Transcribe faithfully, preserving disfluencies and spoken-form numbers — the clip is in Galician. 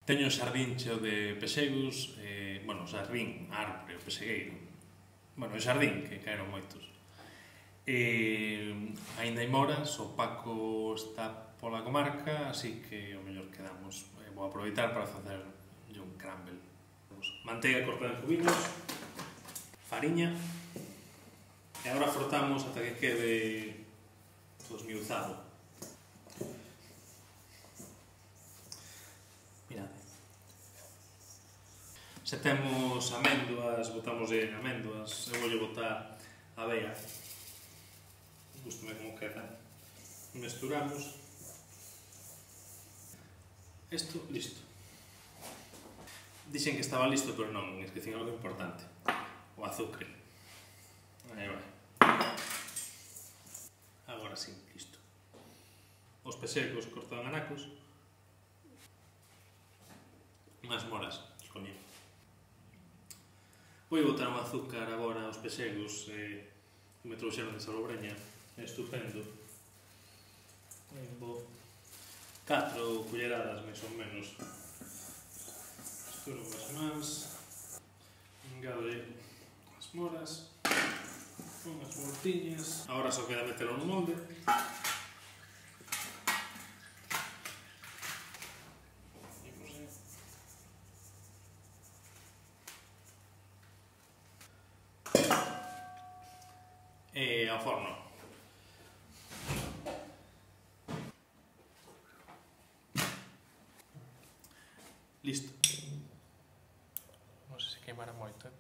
Teño un xardín cheo de pexegos, eh, bueno, o xardín, árbore, o pexegueiro. Bueno, o xardín, que caeron moitos. E aínda hai moras, o Paco está pola comarca, así que o mellor quedamos. Eh, vou aproveitar para facer un crumble. Manteiga cortada en cubitos, fariña, e agora frotamos ata que quede todo esmiuzado. Mirad. Se temos améndoas, botamos en améndoas, eu voulle botar avea. Gústame como queda. Mesturamos. Isto, listo. Dixen que estaba listo, pero non, esquecín algo importante. O azúcar. Aí vai. Agora sí, listo. Os pexegos cortados en anacos. Unhas moras, escoñí. Vou botar un azúcar agora aos pexegos eh, que me trouxeron de Salobreña. É estupendo. Vou catro culleradas, máis ou menos. Misturo unhas mans. Engade as moras. Unhas voltiñas. Agora só queda metelo no molde. E ao forno. Listo. Non sei se queimara moito, eh?